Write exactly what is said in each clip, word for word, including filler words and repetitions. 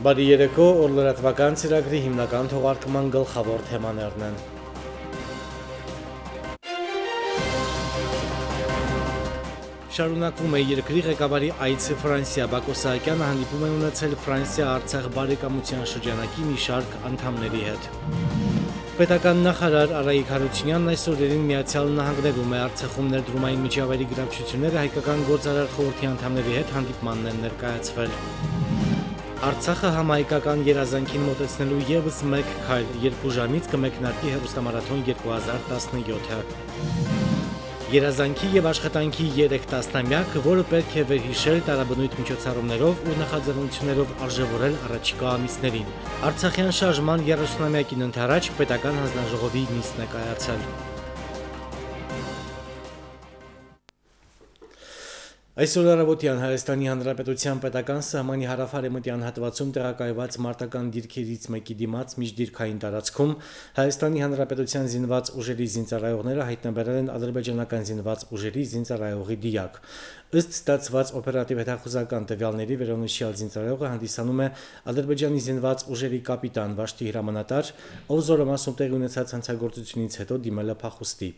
Բարի երեկո, օր լրատվական ծրագրի հիմնական թողարկման գլխավոր թեմաներն են։ Շարունակվում է երկրի ղեկավարի այցը Ֆրանսիա, Բակո Սահակյանը հանդիպում է ունեցել Ֆրանսիա-Արցախ բարեկամության շրջանակի մի շարք անդամների հետ։ Պետական նախարար Արայիկ Հարությունյանն այս օրերին Միացյալ Նահանգներում է Արցախում ներդրումային միջավայրի գրավչությունները հայկական գործարար խորհրդի անդամների հետ հանդիպմանն են ներկայացվել։ Արցախը համահայկական երազանքին մոտեցնելու ևս մեկ քայլ, երկու ժամից կմեկնարկի հեռուստամարաթոն երկու հազար տասնյոթը։ Երազանքի եւ աշխատանքի երեք տասնամյակ, որը պետք է վերհիշել տարաբնույթ միջոցառումներով ու նախաձեռնություններով արժևորել առաջիկա ամիսներին։ Արցախյան շարժման երեսունամյակին ընդառաջ պետական հանձնաժողովի նիստ է կայացել։ Այսօր առավոտյան Հայաստանի Հանրապետության պետական սահմանի հարավ-արևմտյան հատվածում տեղակայված մարտական դիրքերից մեկի դիմաց միջդիրքային տարածքում Հայաստանի Հանրապետության զինված ուժերի զինծառայողները հայտնաբերել են ադրբեջանական զինված ուժերի զինծառայողի դիակ։ Ըստ ստացված օպերատիվ հետախուզական տվյալների վերոնշյալ զինծառայողը հանդիսանում է Ադրբեջանի զինված ուժերի կապիտան Վաշտի Հրամանատար, ով զորամասում տեղի ունեցած հանցագործությունից հետո դիմել է փախուստի։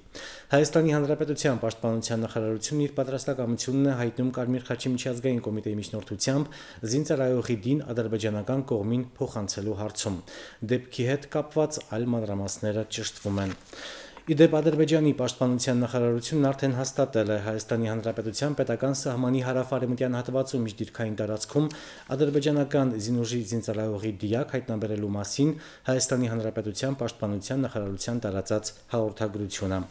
Հայաստանի Հանրապետության պաշտպանության նախարարությունն իր պատրաստակամությունն է հայտնում Կարմիր խաչի միջազգային կոմիտեի միջնորդությամբ զինծառայողի դին ադրբեջանական կողմին փոխանցելու հարցում։ Դեպքի հետ կապված այլ մանրամասները ճշտվում են։ Իդեպ Ադրբեջանի պաշտպանության նախարարությունն արդեն հաստատել է Հայաստանի Հանրապետության պետական սահմանի հարավ-արևմտյան հատվածում միջդիրքային տարածքում ադրբեջանական զինուժի զինծառայողի դիակ հայտնաբերելու մասին Հայաստանի Հանրապետության պաշտպանության նախարարության տարածած հաղորդագրությունը։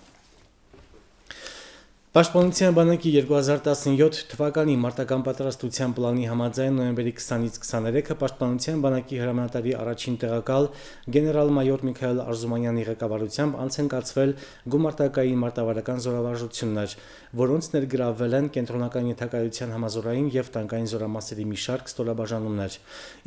Պաշտպանության բանակի երկու հազար տասնյոթ թվականի մարտական պատրաստության պլանի համաձայն նոյեմբերի քսանից քսաներեքը Պաշտպանության բանակի հրամանատարի առաջին տեղակալ գեներալ-մայոր Միքայել Արզումանյանի ղեկավարությամբ անց են կացվել գումարտակային մարտավարական զորավարժություններ, որոնց ներգրավվել են կենտրոնական ենթակայության համազորային եւ տանկային զորամասերի մի շարք ստորաբաժանումներ։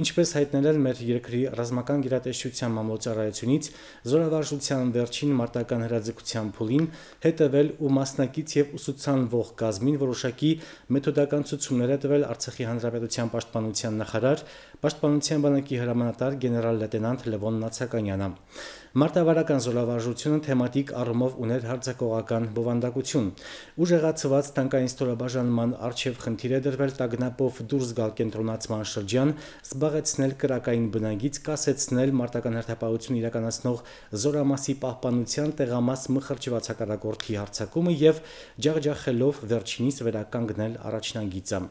Ինչպես հայտնել են մեր երկրի ռազմական գերատեսչության մամլոյցարայությունից, զորավարժության վերջին մարտական հրաձգության փուլին հետևել ու մասնակից եւ ուսուցանվող կազմին որոշակի մեթոդական ցուցումներ է տվել Արցախի Հանրապետության պաշտպանության նախարար, պաշտպանության բանակի հրամանատար գեներալ լեյտենանտ Լևոն Նացականյանը։ Մարտավարական զորավարժությունը թեմատիկ առումով ուներ հարձակողական բովանդակություն։ Ուժեղացված տանկային ստորաբաժանման առջև խնդիր է դրվել տագնապով դուրս գալ կենտրոնացման շրջան, զբաղեցնել կրակային բնագիծ, կասեցնել մարտական հերթապահություն իրականացնող զորամասի պահպանության տեղամաս մխրճված հակառակորդի հարձակումը եւ ջախջախելով վերջինիս վերականգնել առաջնագիծը։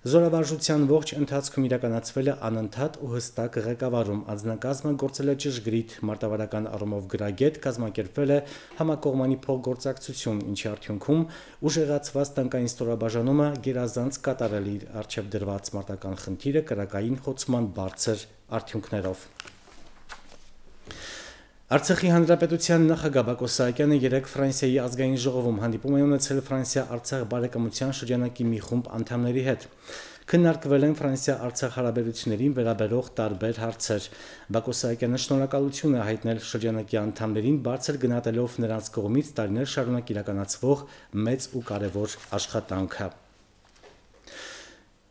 Զորավարժության ողջ ընթացքում իրականացվել է անընդհատ ու հստակ ղեկավարում, անձնակազմը գործել է ճշգրիտ, մարտավարական առումով գրագետ, կազմակերպվել է համակողմանի փոխգործակցություն, ինչի արդյունքում ուժեղացված տանկային ստորաբաժանումը գերազանց կատարել իր առջև դրված մարտական խնդիրը կրակային խոցման բարձր արդյունքներով։ Արցախի Հանրապետության նախագահ Բակո Սահակյանը երեկ Ֆրանսիայի ազգային ժողովում հանդիպում է ունեցել Ֆրանսիա-Արցախ բարեկամության շրջանակի մի խումբ անդամների հետ։ Քննարկվել են Ֆրանսիա-Արցախ հարաբերություններին վերաբերող տարբեր հարցեր։ Բակո Սահակյանը շնորհակալություն է հայտնել շրջանակի անդամներին բարձր գնահատելով նրանց կողմից տարիներ շարունակ իրականացվող մեծ ու կարևոր աշխատանքը։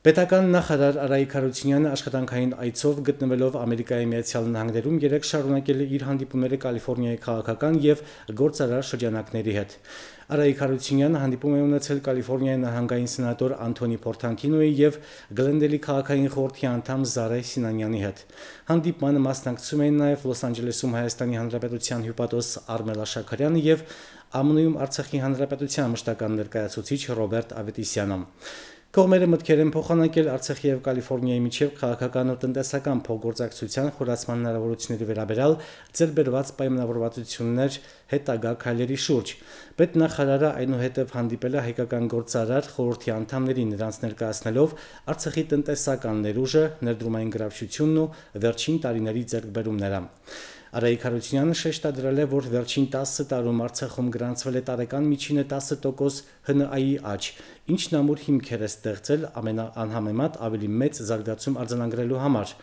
Պետական նախարար Արայիկ Հարությունյանը աշխատանքային այցով գտնվելով Ամերիկայի Միացյալ Նահանգներում երեկ շարունակել է իր հանդիպումները Կալիֆոռնիայի քաղաքական եւ գործարար շրջանակների հետ։ Արայիկ Հարությունյանը հանդիպում է ունեցել Կալիֆոռնիայի նահանգային սենատոր Անթոնի Փորտանտինոյի եւ Գլենդելի քաղաքային խորհրդի անդամ Զարե Սինանյանի հետ։ Հանդիպմանը մասնակցում էին նաեւ Լոս Անջելեսում Հայաստանի Հանրապետության հյուպատոս Արմելա Շաքարյանը եւ ԱՄՆ-ում Արցախի Հանրապետության մշտական ներկայացուցիչ Ռոբերտ Ավետիսյանը։ Կողմերը մտքեր են փոխանակել Արցախի եւ Կալիֆոռնիայի միջև քաղաքական ու տնտեսական փոխգործակցության խորացման հնարավորությունների վերաբերյալ ձեռբերված պայմանավորվածություններ հետագա քայլերի շուրջ։ Պետնախարարը այնուհետև հանդիպել է հայկական գործարար խորհրդի անդամներին, նրանց ներկայացնելով Արցախի տնտեսական ներուժը, ներդրումային գրավչությունն ու վերջին տարիների ձեռքբերումները։ Արայիկ Հարությունյանը շեշտադրել է, որ վերջին տասը տարում Արցախում գրանցվել է տարեկան միջինը տասը տոկոս Հ Ն Ա-ի աճ, ինչն ամուր հիմքեր է ստեղծել ամենաանհամեմատ ավելի մեծ զարգացում արձանագրելու համար։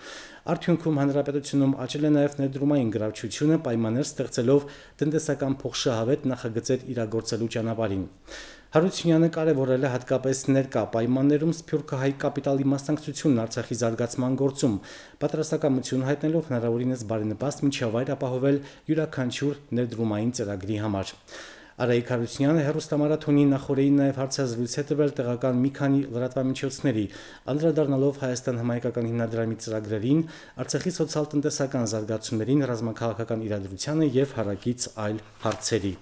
Արդյունքում հանրապետությունում աճել է նաև ներդրումային գրավչությունը, պայմաններ ստեղծելով տնտեսական փոխշահավետ նախագծեր իրագործելու ճանապարհին։ Հարությունյանը կարևորել է հատկապես ներկա պայմաններում սփյուռքահայ կապիտալի մասնակցությունն Արցախի զարգացման գործում, պատրաստակամություն հայտնելով հնարավորինս բարենպաստ միջավայր ապահովել յուրաքանչյուր ներդրումային ծրագրի համար։ Արայիկ Հարությունյանը հեռուստամարաթոնի նախորդին նաև հարցազրույց է տվել տեղական մի քանի լրատվամիջոցների, անդրադառնալով Հայաստան համայնքական հիմնադրամի ծրագրերին, Արցախի սոցիալ-տնտեսական զարգացումներին, ռազմաքաղաքական իրադրությանը եւ հարակից այլ հարցերի։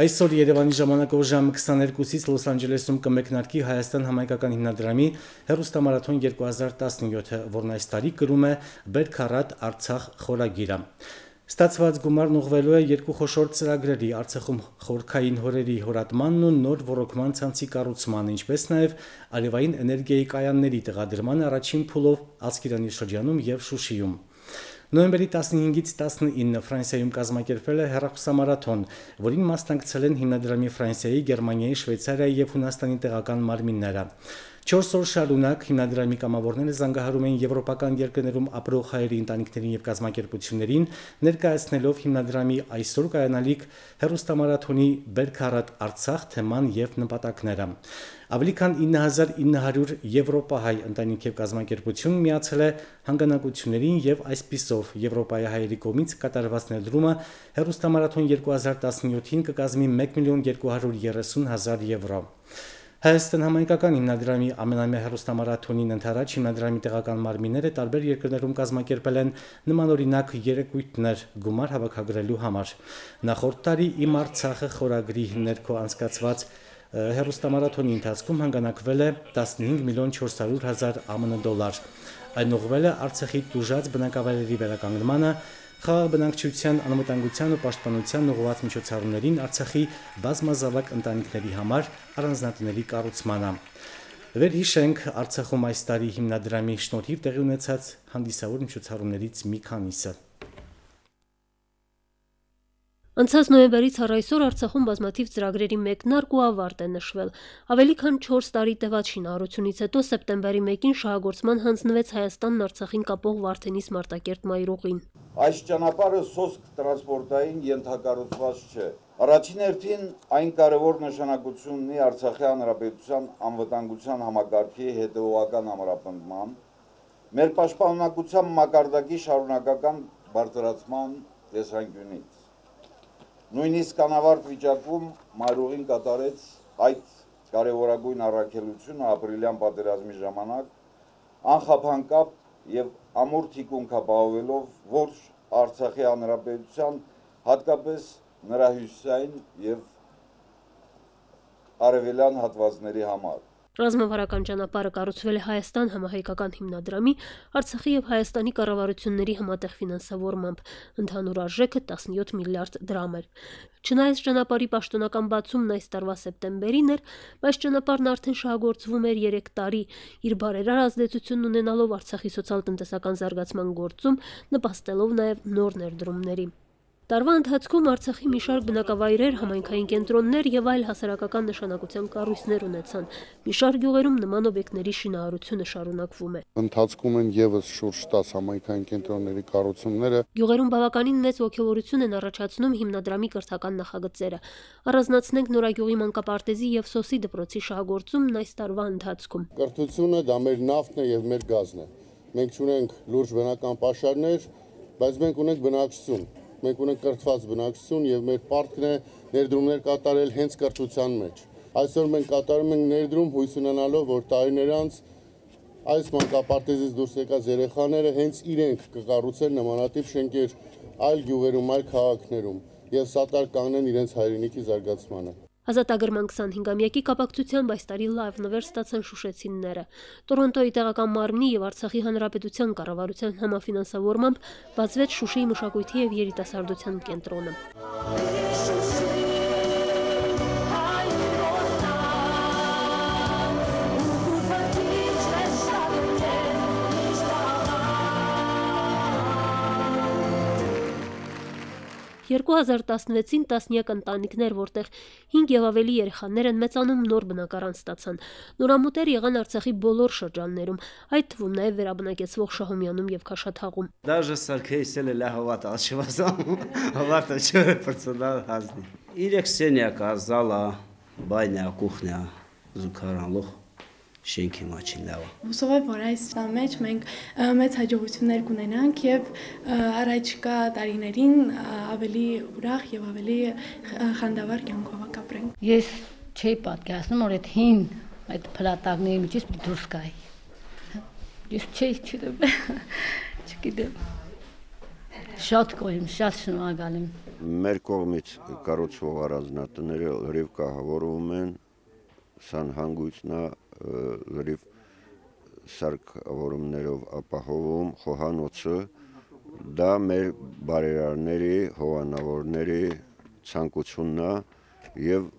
Այսօր Երևանի ժամանակով ժամը քսաներկուսից Լոս Անջելեսում կմեկնարկի Հայաստան համայնքական հիմնադրամի հեռուստամարաթոն երկու հազար տասնյոթը, որն այս տարի կրում է «Բերք Արցախ» խորագիրը։ Ստացված գումարն ուղղվելու է երկու խոշոր ծրագրերի՝ Արցախում խորքային հորերի հորատմանն ու նոր ոռոգման ցանցի կառուցմանը, ինչպես նաև արևային էներգիայի կայանների տեղադրման առաջին փուլով Ասկերանի շրջանում եւ Շուշիում։ Նոյեմբերի տասնհինգից տասնինը Ֆրանսիայում կազմակերպվել է հեռախոսամարաթոն, որին մասնակցել են հիմնադրամի Ֆրանսիայի, Գերմանիայի, Շվեյցարիայի եւ Հունաստանի տեղական մարմինները։ Չորս օր շարունակ հիմնադրամի կամավորները զանգահարում են եվրոպական երկրներում ապրող հայերի ընտանիքներին եւ կազմակերպություններին, ներկայացնելով հիմնադրամի այսօր կայանալիք հեռուստամարաթոնի «Բերք Արցախ» թեման եւ նպատակները։ Ավելի քան ինը հազար ինը հարյուր եվրոպահայ ընտանիք եւ կազմակերպություն միացել է հանգանակություններին եւ այսպիսով Եվրոպայի հայերի կողմից կատարված ներդրումը հեռուստամարաթոն երկու հազար տասնյոթին կկազմի մեկ միլիոն երկու հարյուր երեսուն հազար եվրո։ Հայաստան համայնքական հիմնադրամի ամենամյա հեռուստամարաթոնին ընդառաջ հիմնադրամի տեղական մարմինները տարբեր երկրներում կազմակերպել են նմանօրինակ երեկույթներ գումար հավաքագրելու համար։ Նախորդ տարի «Իմ Արցախը» խորագրի ներքո անցկացված հեռուստամարաթոնի ընթացքում հանգանակվել է տասնհինգ միլիոն չորս հարյուր հազար ԱՄՆ դոլար։ Այն ուղղվել է Արցախի տուժած բնակավայրերի վերականգնմանը, խաղաղ բնակչության անվտանգության ու պաշտպանության ուղղված միջոցառումներին, Արցախի բազմազավակ ընտանիքների համար առանձնատների կառուցմանը։ Վերհիշենք Արցախում այս տարի հիմնադրամի շնորհիվ տեղի ունեցած հանդիսավոր միջոցառումներից մի քանիսը։ Անցած նոյեմբերից առ այսօր Արցախում բազմաթիվ ծրագրերի մեկնարկ ու ավարտ է նշվել։ Ավելի քան չորս տարի տևած շինարարությունից հետո սեպտեմբերի մեկին շահագործման հանձնվեց Հայաստանն Արցախին կապող Վարդենիս Մարտակերտ մայրուղին։ Այս ճանապարհը սոսկ տրանսպորտային ենթակառուցված չէ։ Առաջին հերթին այն կարևոր նշանակություն ունի Արցախի հանրապետության անվտանգության համակարգի հետևողական ամրապնդման, մեր պաշտպանունակության մակարդակի շարունակական բարձրացման տեսանկյունից։ Նույնիսկ անավարտ վիճակում մայրուղին կատարեց այդ կարևորագույն առաքելությունը ապրիլյան պատերազմի ժամանակ, անխափանկապ եւ ամուր թիկունք ապահովելով ոչ Արցախի հանրապետության, հատկապես նրա հյուսիսային եւ արևելյան հատվածների համար։ Ռազմավարական ճանապարհը կառուցվել է Հայաստան համահայկական հիմնադրամի, Արցախի եւ Հայաստանի կառավարությունների համատեղ ֆինանսավորմամբ, ընդհանուր արժեքը տասնյոթ միլիարդ դրամ էր։ Չնայած ճանապարհի պաշտոնական բացումն այս տարվա սեպտեմբերին էր, բայց ճանապարհն արդեն շահագործվում էր երեք տարի, իր բարերար ազդեցությունն ունենալով Արցախի սոցիալ-տնտեսական զարգացման գործում, նպաստելով նաեւ նոր ներդրումների։ Տարվա ընթացքում Արցախի մի շարք բնակավայրեր, համայնքային կենտրոններ եւ այլ հասարակական նշանակության կառույցներ ունեցան։ Մի շարք գյուղերում նման օբյեկտների շինարարությունը շարունակվում է։ Ընթացքում են եւս շուրջ տասը համայնքային կենտրոնների կառուցումները։ Գյուղերում բավականին մեծ ոգևորություն են առաջացնում հիմնադրամի կրթական նախագծերը։ Առանձնացնենք Նորագյուղի մանկապարտեզի եւ Սոսի դպրոցի շահագործումն այս տարվա ընթացքում։ Կրթությունը դա մեր նավթն է եւ մեր գազն է։ Մենք ունենք լուրջ բնական պաշարներ, բայց մենք ունենք բնակչություն։ Մենք ունենք կրթված բնակչություն եւ մեր պարտքն է ներդրումներ կատարել հենց կրթության մեջ։ Այսօր մենք կատարում ենք ներդրում հույս ունենալով, որ տարիներ անց այս մանկապարտեզից դուրս եկած երեխաները հենց իրենք կկառուցեն նմանատիպ շենքեր այլ գյուղերում, այլ քաղաքներում եւ սատար կանգնեն իրենց հայրենիքի զարգացմանը։ Ազատագրման քսանհինգամյակի կապակցությամբ այս տարի լայվ նվեր ստացան շուշեցիները։ Տորոնտոյի տեղական մարմնի եւ Արցախի հանրապետության կառավարության համաֆինանսավորմամբ բացվեց Շուշիի մշակույթի եւ երիտասարդության կենտրոնը։ երկու հազար տասնվեցին տասնյակ ընտանիքներ, որտեղ հինգ եւ ավելի երեխաներ են մեծանում, նոր բնակարան ստացան։ Նորամուտեր եղան Արցախի բոլոր շրջաններում, այդ թվում նաեւ վերաբնակեցվող Շահումյանում եւ Քաշաթաղում։ Даже сарքեյսել է լահավատ ալչվազամ, հավատը չէ պրծնալ հազնի։ Իրեք սենյակա, զալա, բայնա, կուխնա, զուգարանլող շենքի մաչին լավա։ Հուսով եմ, որ այս մեջ մենք մեծ հաջողություններ կունենանք եւ առաջիկա տարիներին ավելի ուրախ եւ ավելի խանդավառ կյանքով կապրենք։ Ես չէի պատկերացնում, որ այդ հին այդ փլատակների միջից դուրս գայի։ Ես չէի չգիտեմ։ Չգիտեմ։ Շատ գոհ եմ, շատ շնորհակալ եմ։ Մեր կողմից կառուցվող առանձնատները լրիվ կահավորվում են, սան հանգույցնա լրիվ սարքավորումներով ապահովում, խոհանոցը, դա մեր բարերարների, հովանավորների ցանկությունն է եւ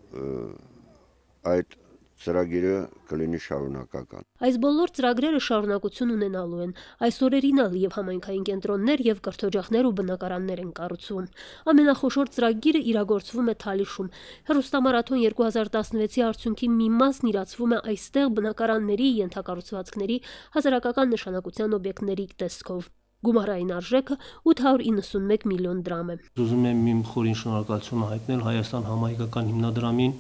այդ ծրագիրը կլինի շարունակական։ Այս բոլոր ծրագրերը շարունակություն ունենալու են։ Այս օրերին ալ եւ համայնքային կենտրոններ եւ կրթօջախներ ու բնակարաններ են կառուցվում։ Ամենախոշոր ծրագիրը իրագործվում է Թալիշում։ Հեռուստամարաթոն երկու հազար տասնվեցի արդյունքի մի մասն իրացվում է այստեղ բնակարանների, ենթակառուցվածքների, հասարակական նշանակության օբյեկտների տեսքով։ Գումարային արժեքը ութ հարյուր իննսունմեկ միլիոն դրամ է։ Ուզում եմ իմ խորին շնորհակալությունը հայտնել Հայաստան համահայկական հիմնադրամին,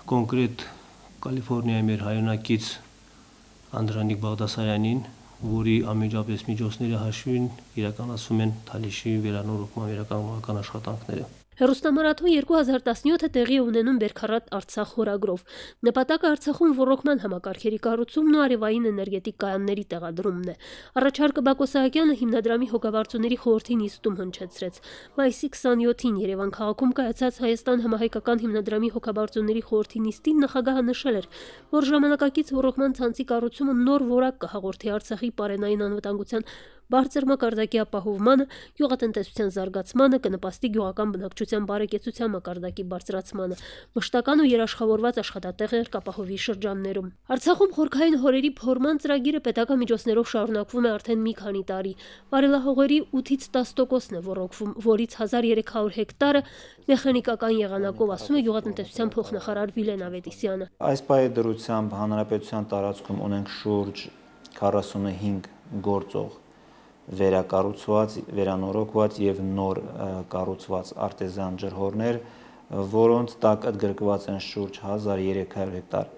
կոնկրետ Կալիֆոռնիայի մեր հայրենակից Անդրանիկ Բաղդասարյանին, որի անմիջապես միջոցների հաշվին իրականացվում են Թալիշի վերանորոգման վերականգնական աշխատանքները։ Հեռուստամարաթոն երկու հազար տասնյոթը տեղի է ունենում Բերքարատ Արցախ խորագրով։ Նպատակը Արցախում ռոռոկման համակարգերի կառուցումն ու արևային էներգետիկ կայանների տեղադրումն է։ Առաջարկը Բակո Սահակյանը հիմնադրամի հոգաբարձուների խորհրդի նիստում հնչեցրեց։ Մայիսի քսաներկուին Երևան քաղաքում կայացած Հայաստան համահայկական հիմնադրամի հոգաբարձուների խորհրդի նիստին նախագահը նշել էր, որ ժամանակակից ռոռոկման ցանցի կառուցումը նոր որակ կհաղորդի Արցախի պարենային անվտանգության բարձր մակարդակի ապահովմանը, գյուղատնտեսության զարգացմանը, կնպաստի գյուղական բնակչության բարեկեցության մակարդակի բարձրացմանը, մշտական ու երաշխավորված աշխատատեղեր կապահովի շրջաններում։ Արցախում խորքային հորերի փորման ծրագիրը պետական միջոցներով շարունակվում է արդեն մի քանի տարի։ Վարելահողերի ութից տասը տոկոսն է ոռոգվում, որից հազար երեք հարյուր հեկտարը մեխանիկական եղանակով, ասում է գյուղատնտեսության փոխնախարար Վիլեն Ավետիսյանը։ Այս պահի դրությամբ հանրապետության տարածքում ունենք շուրջ քառասունհինգ գործող վերակառուցված, վերանորոգված եւ նոր կառուցված արտեզյան ջրհորներ, որոնց տակ ընդգրկված են շուրջ հազար երեք հարյուր հեկտար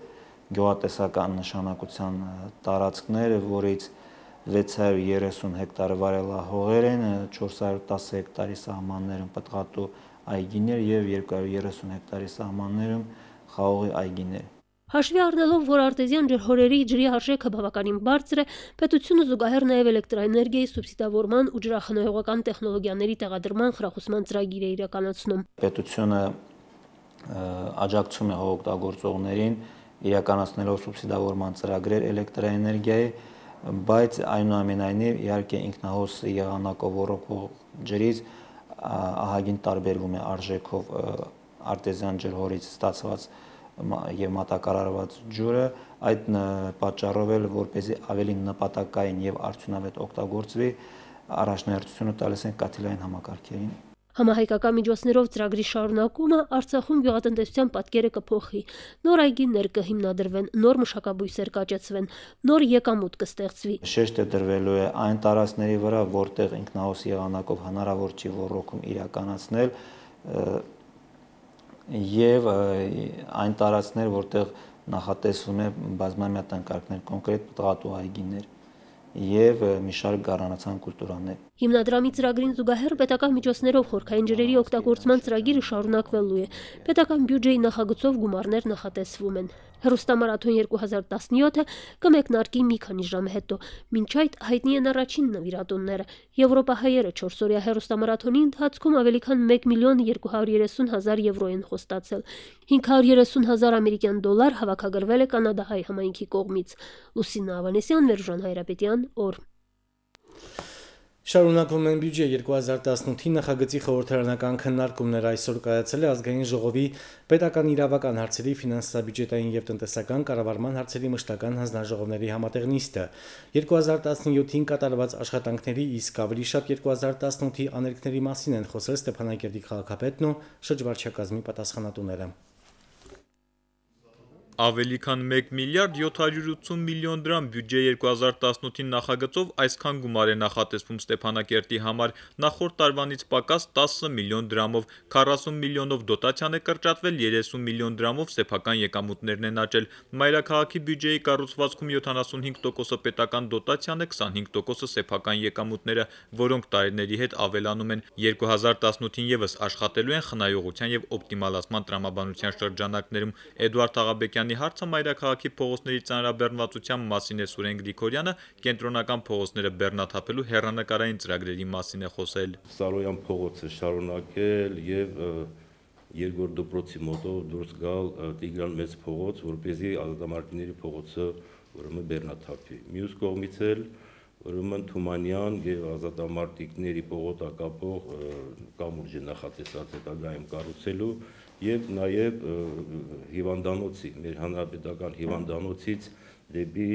գյուղատնտեսական նշանակության տարածքներ, որից վեց հարյուր երեսուն հեկտարը վարելահողեր են, չորս հարյուր տասը հեկտարի սահմաններում պտղատու այգիներ եւ երկու հարյուր երեսուն հեկտարի սահմաններում խաղողի այգիներ։ Հաշվի առնելով, որ արտեզյան ջրհորերի ջրի արժեքը բավականին բարձր է, պետությունը զուգահեռ նաև էլեկտրաէներգիայի սուբսիդավորման ու ջրախնայողական տեխնոլոգիաների տեղադրման խրախուսման ծրագիր է իրականացնում։ Պետությունը աջակցում է հողօգտագործողներին իրականացնելով սուբսիդավորման ծրագրեր էլեկտրաէներգիայի, բայց այնուամենայնիվ իհարկե ինքնահոս եղանակով ոռոգվող ջրից ահագին տարբերվում է արժեքով արտեզյան ջրհորից ստացված եւ մատակարարված ջուրը, այդ պատճառով էլ որպեսզի ավելի նպատակային եւ արդյունավետ օգտագործվի, առաջնահերթությունը տալիս են կաթիլային համակարգերին։ Համահայկական միջոցներով ծրագրի շարունակումը Արցախում գյուղատնտեսության պատկերը կփոխի։ Նոր այգիներ կհիմնադրվեն, նոր մշակաբույսեր կաճեցվեն, նոր եկամուտ կստեղծվի։ Շեշտը դրվելու է այն տարածքների վրա, որտեղ ինքնահոս եղանակով հնարավոր չի ոռոգում իրականացնել, եւ այն տարածքներ, որտեղ նախատեսվում է բազմամյա տնկարկներ, կոնկրետ պտղատու այգիներ եւ մի շարք գառնանացան կուլտուրաներ։ Հիմնադրամի ծրագրին զուգահեռ պետական միջոցներով խորքային ջրերի օգտագործման ծրագիրը շարունակվելու է։ Պետական բյուջեի նախագծով գումարներ նախատեսվում են։ Հեռուստամարաթոն երկու հազար տասնյոթը կմեկնարկի մի քանի ժամ հետո։ Մինչ այդ հայտնի են առաջին նվիրատունները։ Եվրոպահայերը չորսօրյա հեռուստամարաթոնի ընթացքում ավելի քան մեկ միլիոն երկու հարյուր երեսուն հազար եվրո են խոստացել։ հինգ հարյուր երեսուն հազար ամերիկյան դոլար հավաքագրվել է կանադահայ համայնքի կողմից։ Լուսինա Ավանեսյան, Վերժան Հայրապետյան, օր։ Շարունակվում են բյուջե երկու հազար տասնութի նախագծի խորհրդարանական քննարկումներ այսօր կայացել է ազգային ժողովի պետական իրավական հարցերի, ֆինանսա-բյուջետային եւ տնտեսական կառավարման հարցերի մշտական հանձնաժողովների համատեղ նիստը երկու հազար տասնյոթին կատարված աշխատանքների, իսկ ավելի շատ երկու հազար տասնութի աներկների մասին են խոսել Ստեփանակերտի քաղաքապետն ու շրջվարչակազմի պատասխանատուները։ Ավելի քան մեկ միլիարդ յոթ հարյուր ութսուն միլիոն դրամ բյուջե երկու հազար տասնութին նախագծով այսքան գումար է նախատեսվում Ստեփանակերտի համար, նախորդ տարվանից պակաս տասը միլիոն դրամով, քառասուն միլիոնով դոտացիան է կրճատվել, երեսուն միլիոն դրամով սեփական եկամուտներն են աճել։ Մայրաքաղաքի բյուջեի կառուցվածքում յոթանասունհինգ տոկոսը պետական դոտացիան է, քսանհինգ տոկոսը սեփական եկամուտները, որոնք տարիների հետ ավելանում են։ երկու հազար տասնութին եւս աշխատելու են խնայողության եւ օպտիմալացման տրամաբանության շրջանակներում։ Էդուարդ Աղաբեկյանի հարցը մայրաքաղաքի փողոցների ծանրաբեռնվածության մասին է Սուրեն Գրիգորյանը, կենտրոնական փողոցները բեռնաթափելու հեռանկարային ծրագրերի մասին է խոսել։ Սարոյան փողոցը շարունակել եւ երկրորդ դպրոցի մոտով դուրս գալ Տիգրան մեծ փողոց, որպեսզի ազատամարտիկների փողոցը ուրեմն բեռնաթափի։ Մյուս կողմից էլ ուրեմն Թումանյան եւ ազատամարտիկների փողոցակապող կամուրջ նախատեսած հետագայում կառուցելու եւ նաեւ հիվանդանոցի, մեր հանրապետական հիվանդանոցից դեպի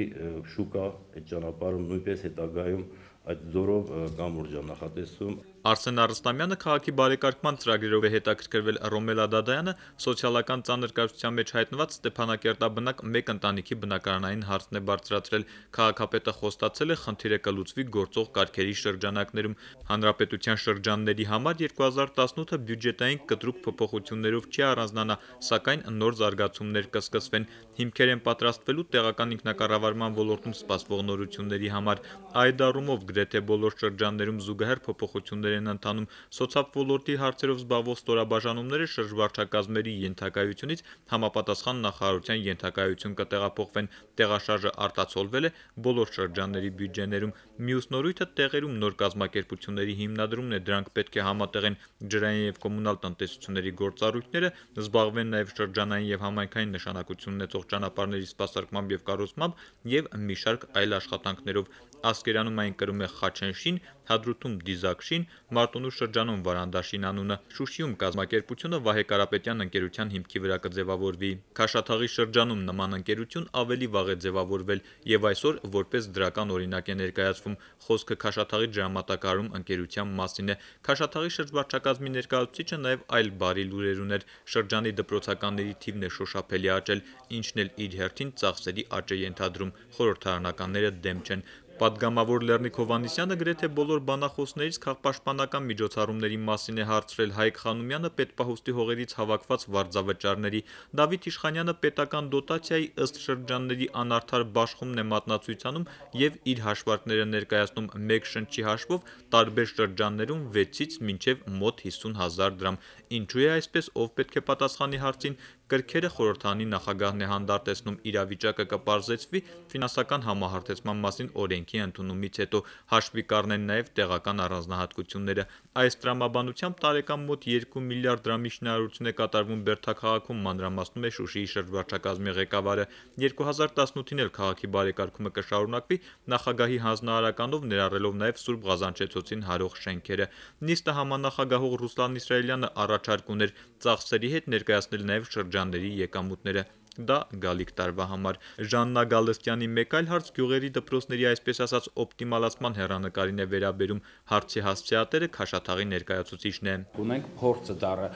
շուկա այդ ճանապարհը նույնպես հետագայում այդ ձորով կամուրջ նախատեսում։ Արսեն Արստամյանը քաղաքի բարեկարգման ծրագրերով է հետաքրքրվել, Ռոմելա Դադայանը սոցիալական ծանր կայսրության մեջ հայտնված Ստեփանակերտաբնակ մեկ ընտանիքի բնակարանային հարցն է բարձրացրել։ Քաղաքապետը խոստացել է խնդիրը կլուծվի գործող կարգերի շրջանակներում։ Հանրապետության շրջանների համար երկու հազար տասնութը բյուջետային կտրուկ փոփոխություններով չի առանձնանա, սակայն նոր զարգացումներ կսկսվեն։ Հիմքեր են պատրաստվելու տեղական ինքնակառավարման ոլորտում սպասվող նորությունների համար։ Այդ առումով գրեթե բոլոր շրջաններում զուգահեռ փոփոխություններ են ընթանում։ Սոցիալ ոլորտի հարցերով զբաղվող ստորաբաժանումները շրջվարչակազմերի ենթակայությունից համապատասխան նախարարության ենթակայություն կտեղափոխվեն։ Տեղաշարժը արտացոլվել է բոլոր շրջանների բյուջեներում։ Մյուս նորույթը տեղերում նոր կազմակերպությունների հիմնադրումն է, դրանք պետք է համատեղեն ջրային եւ կոմունալ տնտեսությունների գործառույթները, զբաղվեն նաեւ շրջանային եւ համայնքային նշանակություն ունեցող ճանապարհների սպասարկմամբ եւ կառուցմամբ եւ մի շարք այլ աշխատանքներով։ Ասկերանում այն կրում է Խաչենշին, Հադրութում Դիզակշին, Մարտունու շրջանում Վարանդաշին անունը։ Շուշիում կազմակերպությունը Վահե Կարապետյան ընկերության հիմքի վրա կձևավորվի։ Քաշաթաղի շրջանում նման ընկերություն ավելի վաղ է ձևավորվել եւ այսօր որպես դրական օրինակ է ներկայացվում։ Խոսքը Քաշաթաղի դրամատակարարում ընկերության մասին է։ Քաշաթաղի շրջվարչակազմի ներկայացուցիչը նաեւ այլ բարի լուրեր ուներ։ Շրջանի դպրոցականների թիվն է շոշափելի աճել, ինչն էլ իր հերթին ծախսերի աճ է ենթադրում։ Խորհրդարանականները դեմ չեն։ Պատգամավոր Լեռնիկ Հովհաննիսյանը գրեթե բոլոր բանախոսներից քաղաքապաշտպանական միջոցառումների մասին է հարցրել, Հայկ Խանոմյանը պետպահուստի հողերից հավաքված վարձավճարների, Դավիթ Իշխանյանը պետական դոտացիայի ըստ շրջանների անարդար բաշխումն է մատնացույցանում եւ իր հաշվարկները ներկայացնում մեկ շնչի հաշվով տարբեր շրջաններում վեցից մինչեւ մոտ հիսուն հազար դրամ։ Ինչու է այսպես, ով պետք է պատասխանի հարցին, կրքերը խորհրդանի նախագահն է հանդարտեցնում, իրավիճակը կպարզեցվի ֆինանսական համահարթեցման մասին օրենքի ընդունումից հետո, հաշվի կառնեն նաև տեղական առանձնահատկությունները։ Այս տրամաբանությամբ տարեկան մոտ երկու միլիարդ դրամի շինարարություն է կատարվում Բերդաքաղաքում, մանրամասնում է Շուշիի շրջվարչակազմի ղեկավարը։ երկու հազար տասնութին էլ քաղաքի բարեկարգումը կշարունակվի նախագահի հանձնարարականով, ներառելով նաև Սուրբ Ղազանչեցոցին հարող շենքերը։ Նիստը համանախագահող Ռուսլան Իսրայելյանը առաջարկ ուներ ծախսերի հետ ներկայացնել նաև շրջանների եկամուտները։ Դա գալիք տարվա համար։ Ժաննա Գալստյանի մեկ այլ հարց գյուղերի դպրոցների այսպես ասած օպտիմալացման հեռանկարին է վերաբերում։ Հարցի հասցեատերը Քաշաթաղի ներկայացուցիչն է։ Ունենք փորձը դառը,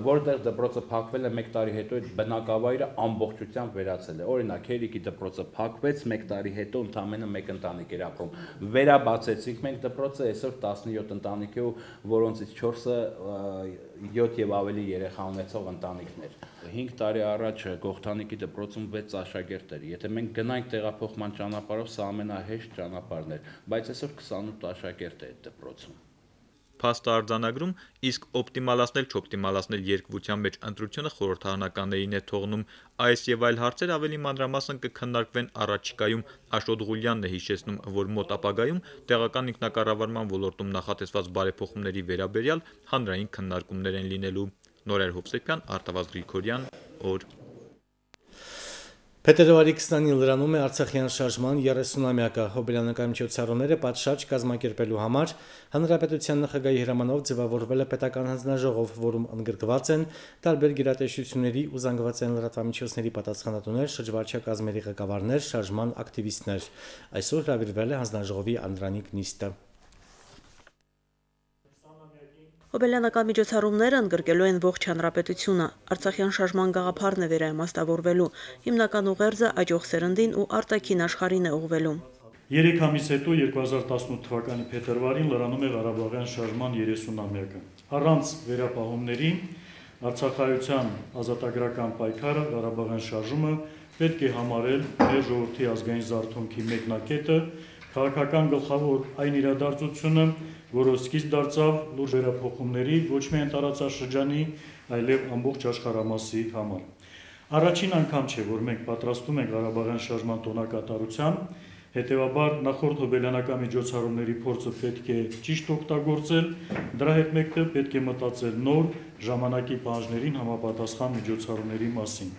որտեղ դպրոցը փակվել է մեկ տարի հետո այդ բնակավայրը ամբողջությամբ վերացել է։ Օրինակ, Հերիկի դպրոցը փակվեց, մեկ տարի հետո ընդամենը մեկ ընտանիք էր ապրում։ Վերաբացեցինք մենք դպրոցը, այսօր տասնյոթ ընտանիք է, որոնցից չորսը յոթ եւ ավելի երեխա ունեցող ընտանիքներ։ հինգ տարի առաջ Գողթանիկի դպրոցում վեց աշակերտ էր։ Եթե մենք գնանք տեղափոխման ճանապարհով, սա ամենահեշտ ճանապարհն էր, բայց այսօր քսանութ աշակերտ է այդ դպրոցում։ Փաստը արձանագրում, իսկ օպտիմալացնել չօպտիմալացնել երկվության մեջ ընտրությունը խորհրդարանականներին է թողնում։ Այս եւ այլ հարցեր ավելի մանրամասն կքննարկվեն առաջիկայում։ Աշոտ Ղուլյանն է հիշեցնում, որ մոտ ապագայում տեղական ինքնակառավարման ոլորտում նախատեսված բարեփոխումների վերաբերյալ հանրային քննարկումներ են լինելու։ Նորայր Հովսեփյան, Արտավազդ Գրիգորյան, օր Փետրվարի քսանինը լրանում է Արցախյան շարժման երեսունամյակը։ Հոբելյանական միջոցառումները պատշաճ կազմակերպելու համար Հանրապետության նախագահի հրամանով ձևավորվել է պետական հանձնաժողով, որում ընդգրկված են տարբեր գերատեսչությունների ու զանգվածային լրատվամիջոցների պատասխանատուներ, շրջվարչակազմերի ղեկավարներ, շարժման ակտիվիստներ։ Այսօր հրավիրվել է հանձնաժողովի անդրանիկ նիստը։ Հոբելյանական միջոցառումները ընդգրկելու են ողջ հանրապետությունը։ Արցախյան շարժման գաղափարն է վերաիմաստավորվելու, հիմնական ուղերձը աճող սերնդին ու արտաքին աշխարհին է ուղղվելու։ Երեք ամիս հետո երկու հազար տասնութ թվականի փետրվարին լրանում է Ղարաբաղյան շարժման երեսունամյակը։ Առանց վերապահումների Արցախայության ազատագրական պայքարը, Ղարաբաղյան շարժումը պետք է համարել մեր ժողովրդի ազգային զարթոնքի մեկնակետը, քաղաքական գլխավոր այն իրադարձությունը, որը սկիզբ դարձավ լուրջ վերափոխումների ոչ միայն տարածաշրջանի, այլև ամբողջ աշխարհամասի համար։ Առաջին անգամ չէ, որ մենք պատրաստում ենք Ղարաբաղյան շարժման տոնակատարության, հետևաբար նախորդ հոբելյանական միջոցառումների փորձը պետք է ճիշտ օգտագործել, դրա հետ մեկտեղ պետք է մտածել նոր ժամանակի պահանջներին համապատասխան միջոցառումների մասին։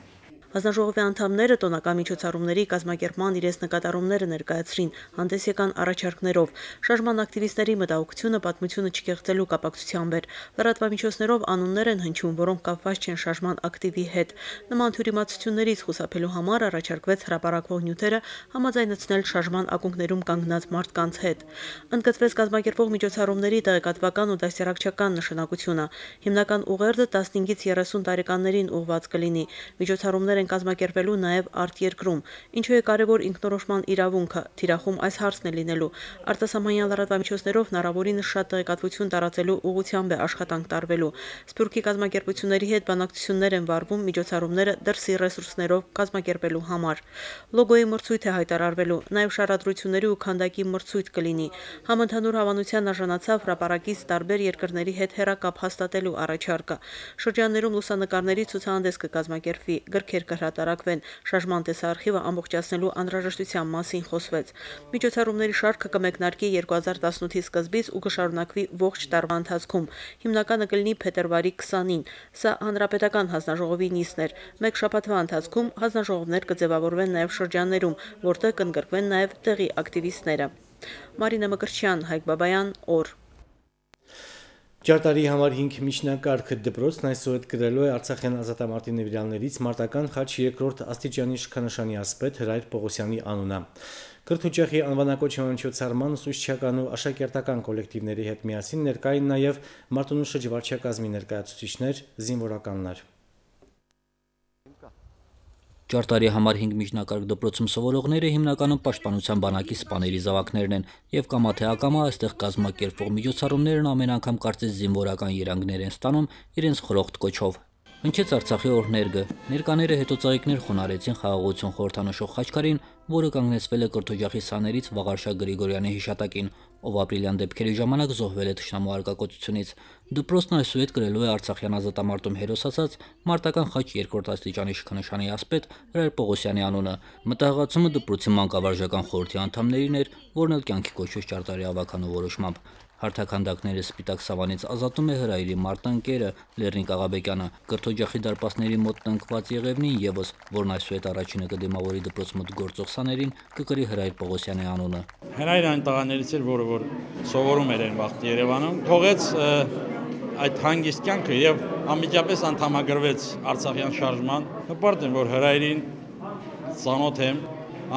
Հանձնաժողովի անդամները տոնական միջոցառումների կազմակերպման իրենց նկատառումները ներկայացրին, հանդես եկան առաջարկներով։ Շարժման ակտիվիստների մտահոգությունը պատմությունը չկեղծելու կապակցությամբ էր։ Լրատվամիջոցներով անուններ են հնչում, որոնք կապված չեն շարժման ակտիվի հետ։ Նման թյուրիմացություններից խուսափելու համար առաջարկվեց հրապարակվող նյութերը համաձայնեցնել շարժման ակունքներում կանգնած մարդկանց հետ։ Ընդգծվեց կազմակերպվող միջոցառումների տեղեկատվական ու դաստիարակչական նշանակությունը։ Հիմնական ուղերձը տասնհինգից երեսուն տարեկաններին ուղղված կլինի։ Միջոցառումները են կազմակերպելու նաև արտերկրում, ինչու է կարևոր ինքնորոշման իրավունքը, թիրախում այս հարցն է լինելու։ Արտասահմանյան լրատվամիջոցներով հնարավորինս շատ տեղեկատվություն տարածելու ուղղությամբ է աշխատանք տարվելու։ Սփյուռքի կազմակերպությունների հետ բանակցություններ են վարվում միջոցառումները դրսի ռեսուրսներով կազմակերպելու համար։ Լոգոյի մրցույթ է հայտարարվելու, նաև շարադրությունների ու քանդակի մրցույթ կլինի։ Համընդհանուր հավանության արժանացավ հրապարակից տարբեր երկրների հետ հեռակապ հաստատելու առաջարկը։ Շրջաններում լուսանկարների ցուցահանդես կկազմակերպվի, գրքեր կհրատարակվեն, շարժման տեսարխիվը ամբողջացնելու անհրաժեշտության մասին խոսվեց։ Միջոցառումների շարքը կմեկնարկի երկու հազար տասնութի սկզբից ու կշարունակվի ողջ տարվա ընթացքում։ Հիմնականը կլինի փետրվարի քսանին։ Սա հանրապետական հանձնաժողովի նիստն էր։ Մեկ շաբաթվա ընթացքում հանձնաժողովներ կձևավորվեն նաև շրջաններում, որտեղ կընդգրկվեն նաև տեղի ակտիվիստները։ Մարինա Մկրտչյան, Հայկ Բաբայան, օր։ Ճարտարի համար հինգ միջնակարգ դպրոցն այսօր հետ գրելու է Արցախյան ազատամարտի նվիրյալներից մարտական խաչ երկրորդ աստիճանի շքանշանի ասպետ Հրայր Պողոսյանի անունը։ Կրթօջախի անվանակոչման միջոցառման ուսուցչական ու աշակերտական կոլեկտիվների հետ միասին ներկա էին նաև Մարտունու շրջվարչակազմի ներկայացուցիչներ, զինվորականներ։ Ճարտարի համար հինգ միջնակարգ դպրոցում սովորողները հիմնականում պաշտպանության բանակի սպաների զավակներն են, եւ կամա թե ակամա այստեղ կազմակերպվող միջոցառումներն ամեն անգամ կարծես զինվորական երանգներ են ստանում իրենց խրոխտ կոչով։ Հնչեց Արցախի օրհներգը, ներկաները հետո ծաղիկներ խոնարեցին խաղաղություն խորհրդանշող խաչքարին, որը կանգնեցվել է կրթօջախի սաներից Վաղարշակ Գրիգորյանի հիշատակին, ով ապրիլյան դեպքերի ժամանակ զոհվել է թշնամու արկակոծությունից։ Դպրոցն այսուհետ գրելու է Արցախյան ազատամարտում հերոսացած մարտական խաչ երկրորդ աստիճանի շքանշանի ասպետ Հրայր Պողոսյանի անունը։ Մտահղացումը դպրոցի մանկավարժական խորհրդի անդամներին էր, որն էլ կյանքի կոչվեց ճարտարի ավականու որոշմամբ։ Հարթականդակները սպիտակ սավանից ազատում է Հրայրի մարտանկերը Լեռնիկ Աղաբեկյանը, կրթօջախի դարպասների մոտ տնկված Եղևնին եւս, որն այսուհետ առաջինը կդիմավորի դպրոց մոտ գործող սաներին, կկրի Հրայր Պողոսյանի անունը։ Հրայրը այն տղաներից էր, որը որ սովորում էր այն վաղ Երևանում, թողեց այդ հանգիստ կյանքը եւ անմիջապես անդամագրվեց Արցախյան շարժման։ Հպարտ եմ, որ Հրայրին ծանոթ եմ,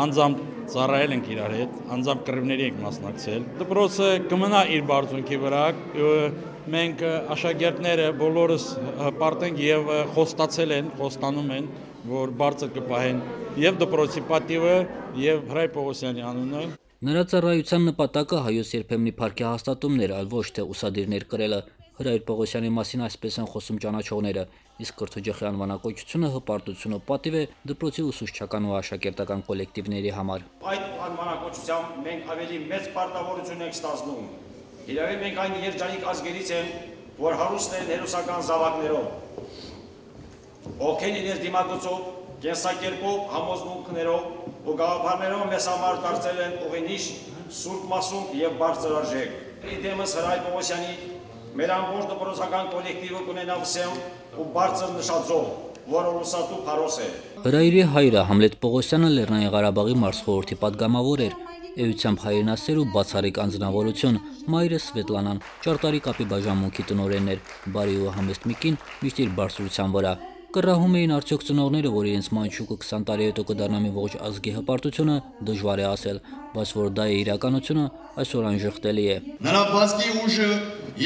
անձամբ ծառայել ենք իրար հետ, անձամբ կռիվների ենք մասնակցել։ Դպրոցը կմնա իր բարձունքի վրա, մենք աշակերտները բոլորս հպարտ ենք եւ խոստացել են, խոստանում են, որ բարձր կպահեն եւ դպրոցի պատիվը եւ Հրայր Պողոսյանի անունը։ Նրա ծառայության նպատակը հայոց երբեմնի փառքի հաստատումն էր, այլ ոչ թե ուսադիրներ կրելը։ Հրայր Պողոսյանի մասին այսպես են խոսում ճանաչողները, իսկ կրթօջախի անվանակոչությունը հպարտություն ու պատիվ է դպրոցի ուսուցչական ու աշակերտական կոլեկտիվների համար։ Այդ անվանակոչությամբ մենք ավելի մեծ պարտավորություն ենք ստացնում։ Իրավի մենք այն երջանիկ ազգերից ենք, որ հարուստ են հերոսական զավակներով, ոգին իրենց դիմակոցով, կենսակերպով, համոզմունքներով ու գաղափարներով մեզ համար դարձել են ուղինիշ, սուրբ մասունք եւ բարձր արժեք։ Իդեմս Հրայր Պողոսյանի մեր ամբողջ դպրոցական կոլեկտիվը կունենա վսեմ ու բարձր նշաձող։ որը ուսատու փարոս է։ Հրայրի հայրը Համլետ Պողոսյանը Լեռնային Ղարաբաղի մարզխորհրդի պատգամավոր էր։ Էությամբ հայրենասեր ու բացառիկ անձնավորություն, մայրը Սվետլանան ճարտարի կապի բաժանմունքի տնօրենն էր, բարի ու համեստ մի կին, միշտ իր բարձրության վրա։ Կռահում էին արդյոք ծնողները, որ իրենց մանչուկը քսան տարի հետո կդառնա մի ողջ ազգի հպարտությունը, դժվար է ասել, բայց որ դա է իրականությունը, այսօր անժխտելի է։ Նրա բացքի ուժը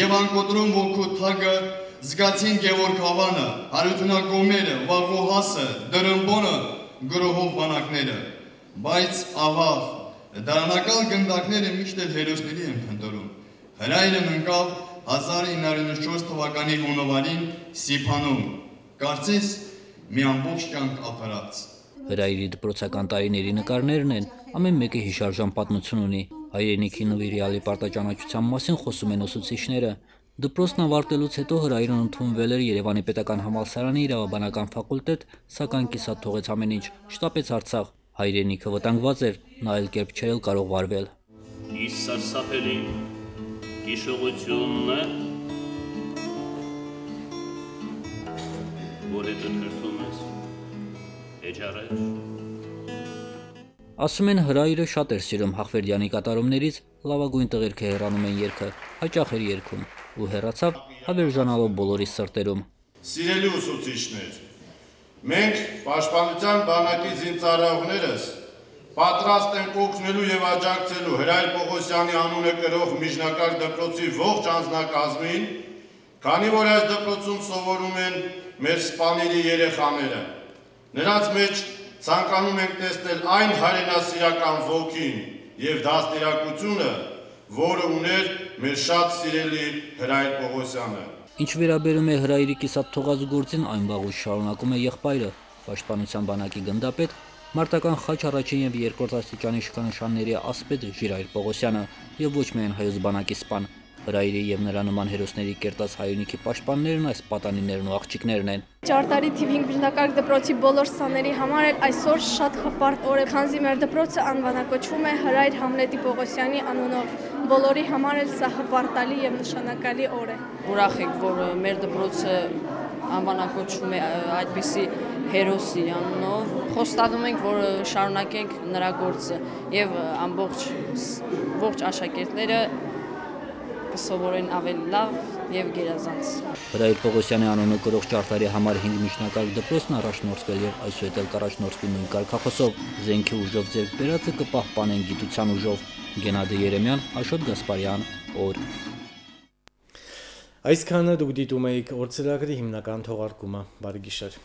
եւ անկոտրում ոգու թագը զգացին Գևորգ Հավանը, հարությունակոմերը, Վաղոհասը, Դրմբոնը, գրոհող բանակները, բայց ահա դարանակալ գնդակները միշտ էլ հերոսների են փնտրում։ Հրայրն ընկավ հազար ինը հարյուր ութ թվականի հունվարին Սիփանում, կարծես մի ամբողջ կյանք ապրած։ Հրայրի դպրոցական տարիների նկարներն են, ամեն մեկը հիշարժան պատմություն ունի։ Հայրենիքի նվիրյալի պարտաճանաչության մասին խոսում են ուսուցիչները։ Դպրոցն ավարտելուց հետո Հրայրն ընդունվել էր Երևանի պետական համալսարանի իրավաբանական ֆակուլտետ, սակայն կիսատ թողեց ամեն ինչ, շտապեց Արցախ։ Հայրենիքը վտանգված էր, նա այլ կերպ չէր կարող վարվել։ Իս սարսափելի հիշողությունն է, որ հետը թրթում ես, էջարեջ։ Ասում են Հրայրը շատ էր սիրում Հախվերդյանի կատարումներից, լավագույն տղերքը հեռանում են երգը, հաճախ էր երգում ու հեռացավ հավերժանալով բոլորի սրտերում։ Սիրելի ուսուցիչներ, մենք պաշտպանության բանակի զինծառայողներս պատրաստ ենք օգնելու եւ աջակցելու Հրայր Պողոսյանի անունը կրող միջնակարգ դպրոցի ողջ անձնակազմին, քանի որ այս դպրոցում սովորում են մեր սպաների երեխաները։ Նրանց մեջ ցանկանում ենք տեսնել այն հայրենասիրական ոգին եւ դաստիարակությունը, որը ուներ մեր շատ սիրելի Հրայր Պողոսյանը։ Ինչ վերաբերում է Հրայրի կիսատ թողած գործին, այն վաղուց շարունակում է եղբայրը, պաշտպանության բանակի գնդապետ, մարտական խաչ առաջին եւ երկրորդ աստիճանի իշխանանշանների ասպետ Ժիրայր Պողոսյանը եւ ոչ միայն հայոց բանակի սպան։ Հրայրի եւ նրա նման հերոսների կերտած հայրենիքի պաշտպաններն այս պատանիներն ու աղջիկներն են։ Ճարտարի թիվ հինգ միջնակարգ դպրոցի բոլոր սաների համար էլ այսօր շատ հպարտ օր է, քանզի մեր դպրոցը անվանակոչվում է Հրայր Համլետի Պողոսյանի անունով։ Բոլորի համար էլ սա հպարտալի եւ նշանակալի օր է։ Ուրախ ենք, որ մեր դպրոցը անվանակոչվում է այդպիսի հերոսի անունով։ Խոստանում ենք, որ շարունակենք նրա գործը եւ ամբողջ ողջ աշակերտները կսովորեն ավելի լավ եւ գերազանց։ Հրայր Պողոսյանի անունը կրող ճարտարի համար հինգ միջնակարգ դպրոցն առաջնորդվել եւ այսուհետ էլ կառաջնորդվի նույն կարգախոսով։ Զենքի ուժով ձեռք բերածը կպահպանեն գիտության ուժով։ Գենադի Երեմյան, Աշոտ Գասպարյան, օր։ Այսքանը դուք դիտում եք օր ծրագրի հիմնական թողարկումը։ Բարի գիշեր։